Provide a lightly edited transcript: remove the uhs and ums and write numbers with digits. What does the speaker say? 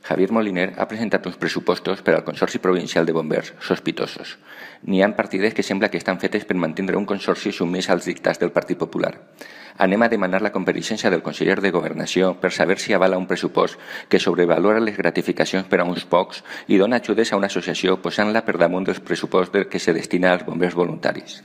Javier Moliner ha presentat uns pressupostos per al Consorci Provincial de Bombers sospitosos. N'hi ha partides que sembla que estan fetes per mantenir un consorci submès als dictats del Partit Popular. Anem a demanar la compareixença del conseller de Governació per saber si avala un pressupost que sobrevalora les gratificacions per a uns pocs i dona ajudes a una associació posant-la per damunt dels pressupostos que se destina als bombers voluntaris.